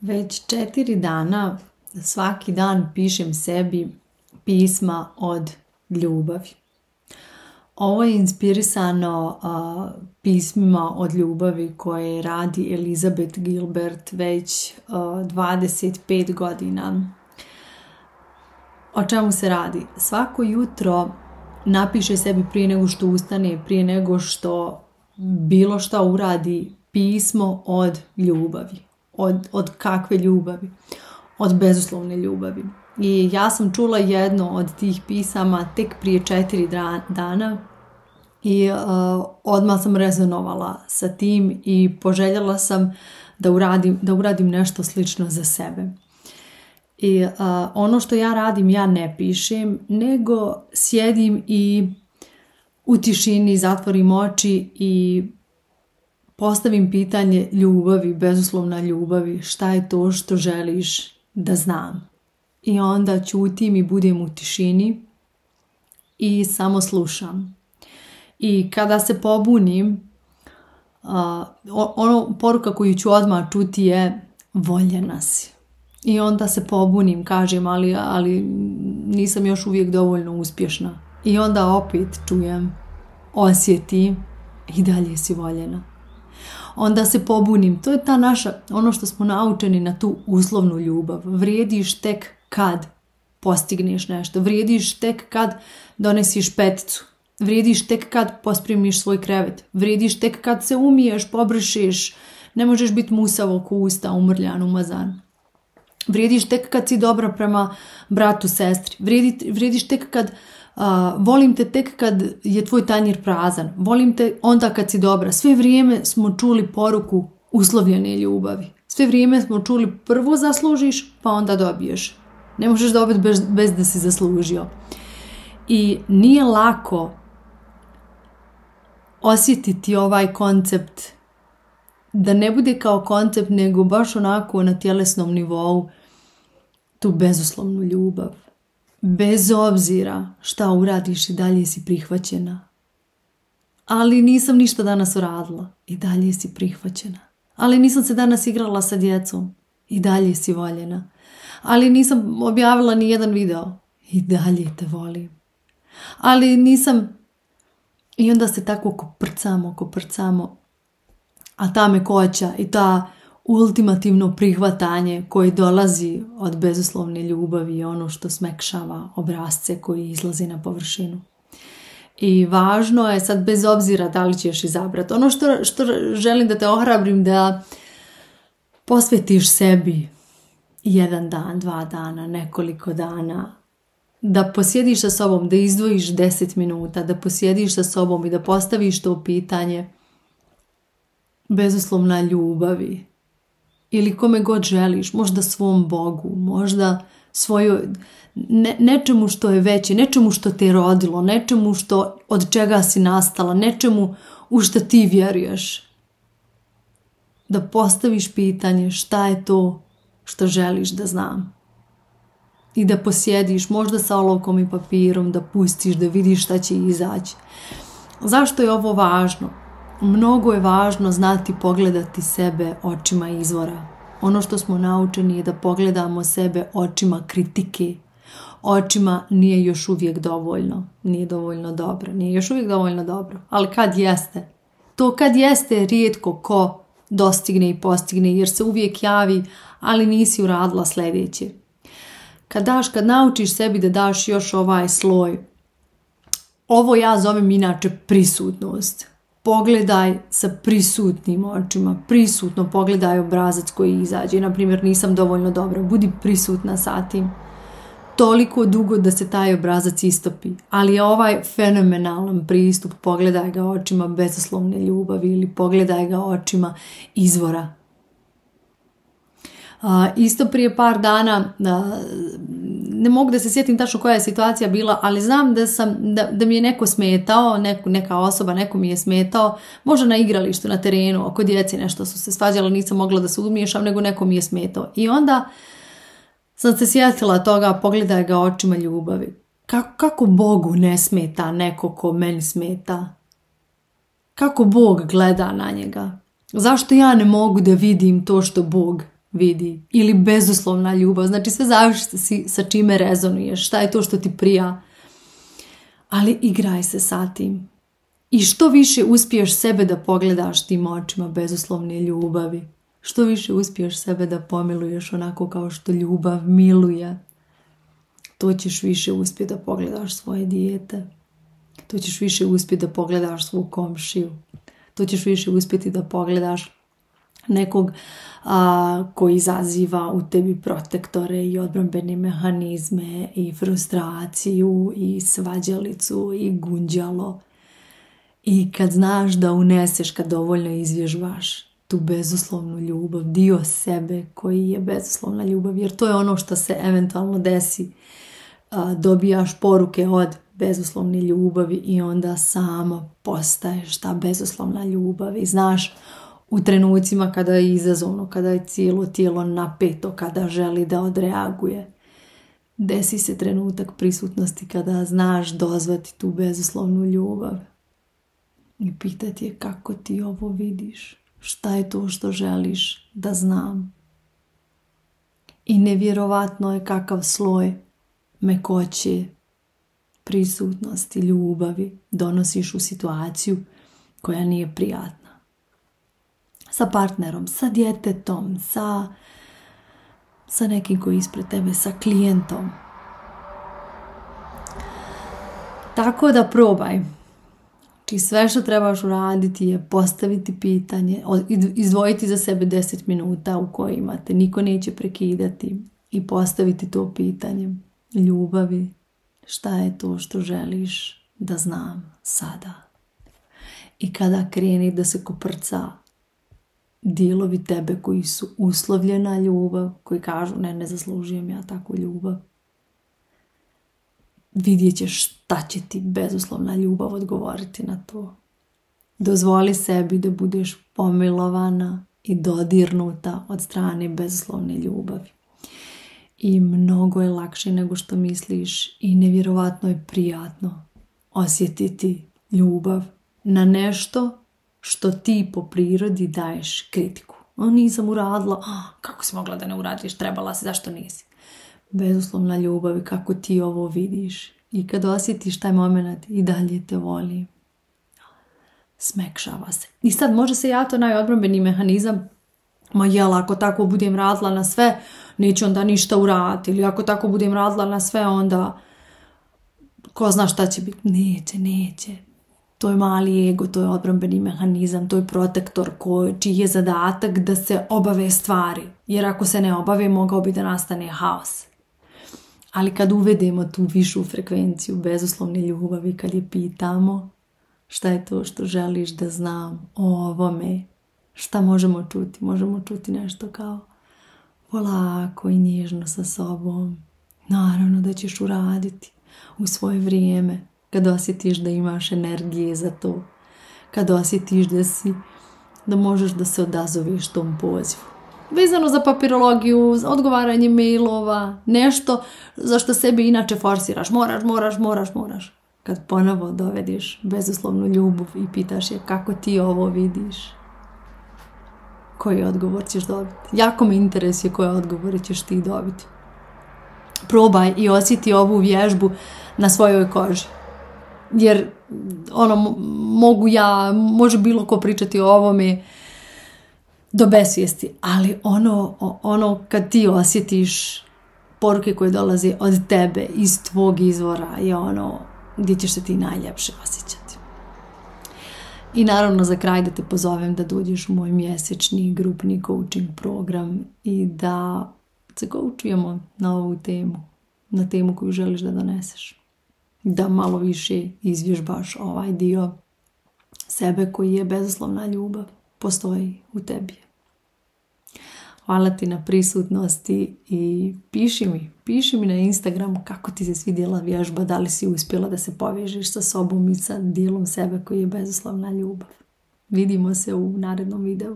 Već 4 dana svaki dan pišem sebi pisma od ljubavi. Ovo je inspirisano pismima od ljubavi koje radi Elizabeth Gilbert već 25 godina. O čemu se radi? Svako jutro napiše sebi prije nego što ustane, prije nego što bilo šta uradi, pismo od ljubavi. Od kakve ljubavi? Od bezuslovne ljubavi. I ja sam čula jedno od tih pisama tek prije 4 dana i odmah sam rezonovala sa tim i poželjela sam da uradim nešto slično za sebe. I ono što ja radim, ja ne pišem, nego sjedim i u tišini zatvorim oči i postavim pitanje ljubavi, bezuslovna ljubavi, šta je to što želiš da znam. I onda ćutim i budem u tišini i samo slušam. I kada se pobunim, poruka koju ću odmah čuti je voljena si. I onda se pobunim, kažem, ali nisam još uvijek dovoljno uspješna. I onda opet čujem, osjeti i dalje si voljena. Onda se pobunim. To je ta naša, ono što smo naučeni na tu uslovnu ljubav. Vrijediš tek kad postigneš nešto. Vrijediš tek kad donesiš peticu. Vrijediš tek kad pospremiš svoj krevet. Vrijediš tek kad se umiješ, pobrišiš. Ne možeš biti musav oko usta, umrljan, umazan. Vrijediš tek kad si dobra prema bratu, sestri. Vrijediš tek kad volim te tek kad je tvoj tanjir prazan. Volim te onda kad si dobra. Sve vrijeme smo čuli poruku uslovljene ljubavi. Sve vrijeme smo čuli prvo zaslužiš pa onda dobiješ. Ne možeš dobiti bez da si zaslužio. I nije lako osjetiti ovaj koncept da ne bude kao koncept nego baš onako na tjelesnom nivou tu bezuslovnu ljubav. Bez obzira šta uradiš i dalje si prihvaćena. Ali nisam ništa danas uradila i dalje si prihvaćena. Ali nisam se danas igrala sa djecom i dalje si voljena. Ali nisam objavila ni jedan video i dalje te volim. Ali nisam... I onda se tako koprcamo. A ta mekoća i ta ultimativno prihvatanje koje dolazi od bezuslovne ljubavi je ono što smekšava obrasce koji izlazi na površinu. I važno je sad bez obzira da li ćeš izabrati. Ono što želim da te ohrabrim da posvetiš sebi 1 dan, 2 dana, nekoliko dana, da posjediš sa sobom, da izdvojiš 10 minuta, da posjediš sa sobom i da postaviš to pitanje bezuslovna ljubavi ili kome god želiš, možda svom Bogu, možda nečemu što je veće, nečemu što te je rodilo, nečemu od čega si nastala, nečemu u što ti vjeruješ. Da postaviš pitanje šta je to što želiš da znam. I da posjediš možda sa olovkom i papirom, da pustiš, da vidiš šta će izaći. Zašto je ovo važno? Mnogo je važno znati pogledati sebe očima izvora. Ono što smo naučeni je da pogledamo sebe očima kritike. Očima nije još uvijek dovoljno. Nije dovoljno dobro. Nije još uvijek dovoljno dobro. Ali kad jeste? To kad jeste rijetko ko dostigne i postigne jer se uvijek javi, ali nisi uradila sljedeće. Kad naučiš sebi da daš još ovaj sloj, ovo ja zovem inače prisutnost. Pogledaj sa prisutnim očima, prisutno pogledaj obrazac koji izađe. Naprimjer, nisam dovoljno dobra, budi prisutna sa tim. Toliko dugo da se taj obrazac istopi. Ali je ovaj fenomenalan pristup, pogledaj ga očima bezuslovne ljubavi ili pogledaj ga očima izvora. Isto prije par dana, ne mogu da se sjetim tačno koja je situacija bila, ali znam da mi je neko smetao, neka osoba, neko mi je smetao, možda na igralištu, na terenu, oko djeci nešto su se svađalo, nisam mogla da se umiješam, nego neko mi je smetao. I onda sam se sjetila toga, pogledaj ga očima ljubavi. Kako Bogu ne smeta neko ko meni smeta? Kako Bog gleda na njega? Zašto ja ne mogu da vidim to što Bog vidi. Ili bezuslovna ljubav. Znači sve zavisi sa čime rezonuješ. Šta je to što ti prija. Ali igraj se sa tim. I što više uspiješ sebe da pogledaš tim očima bezuslovne ljubavi. Što više uspiješ sebe da pomiluješ onako kao što ljubav miluje. To ćeš više uspjeti da pogledaš svoje dijete. To ćeš više uspjeti da pogledaš svoju komšiju. To ćeš više uspjeti da pogledaš nekog koji izaziva u tebi protektore i odbrambene mehanizme i frustraciju i svađalicu i gunđalo. I kad znaš da uneseš, kad dovoljno izvježbaš tu bezuslovnu ljubav, dio sebe koji je bezuslovna ljubav, jer to je ono što se eventualno desi. Dobijaš poruke od bezuslovne ljubavi i onda samo postaješ ta bezuslovna ljubav i znaš u trenucima kada je izazovno, kada je cijelo tijelo napeto, kada želi da odreaguje. Desi se trenutak prisutnosti kada znaš dozvati tu bezuslovnu ljubav i pitati je kako ti ovo vidiš, šta je to što želiš da znam. I nevjerovatno je kakav sloj mekoće, prisutnosti, ljubavi donosiš u situaciju koja nije prijatna. Sa partnerom, sa djetetom, sa nekim koji je ispred tebe, sa klijentom. Tako da probaj. Znači sve što trebaš uraditi je postaviti pitanje, izdvojiti za sebe 10 minuta u kojima te niko neće prekidati i postaviti to pitanje ljubavi. Šta je to što želiš da znam sada? I kada kreni da se koprca dijelovi tebe koji su uslovljena ljubav, koji kažu ne zaslužujem ja takvu ljubav, vidjet ćeš šta će ti bezuslovna ljubav odgovoriti na to. Dozvoli sebi da budeš pomilovana i dodirnuta od strane bezuslovne ljubavi. I mnogo je lakše nego što misliš i nevjerovatno je prijatno osjetiti ljubav na nešto što ti po prirodi daješ kritiku. Nisam uradila, kako si mogla da ne uradiš, trebala si, zašto nisi? Bezuslovna ljubav i kako ti ovo vidiš. I kad osjetiš taj moment i dalje te voli, smekšava se. I sad može se javiti onaj odbrambeni mehanizam, ma jel, ako tako budem radila na sve, neću onda ništa uraditi. Ili ako tako budem radila na sve, onda ko zna šta će biti. Neće. To je mali ego, to je odbrambeni mehanizam, to je protektor čiji je zadatak da se obave stvari. Jer ako se ne obave, mogao bi da nastane haos. Ali kad uvedemo tu višu frekvenciju bezuslovne ljubavi, kad je pitamo šta je to što želiš da znam o ovome, šta možemo čuti? Možemo čuti nešto kao polako i nježno sa sobom. Naravno da ćeš uraditi u svoje vrijeme, kad osjetiš da imaš energije za to, kad osjetiš da možeš da se odazoveš tom pozivu. Vezano za papirologiju, za odgovaranje mailova, nešto za što sebi inače forsiraš. Moraš. Kad ponovo dovediš bezuslovnu ljubav i pitaš je kako ti ovo vidiš, koji odgovor ćeš dobiti. Jako me interesuje koje odgovore ćeš ti dobiti. Probaj i osjeti ovu vježbu na svojoj koži. Jer može bilo ko pričati o ovome do besvijesti, ali ono kad ti osjetiš poruke koje dolaze od tebe, iz tvog izvora, je ono gdje ćeš se ti najljepše osjećati. I naravno za kraj da te pozovem da dođeš u moj mjesečni grupni coaching program i da se coachujemo na ovu temu, na temu koju želiš da doneseš. Da malo više izvježbaš ovaj dio sebe koji je bezuslovna ljubav, postoji u tebi. Hvala ti na prisutnosti i piši mi na Instagramu kako ti se svidjela vježba, da li si uspjela da se povežeš sa sobom i sa dijelom sebe koji je bezuslovna ljubav. Vidimo se u narednom videu.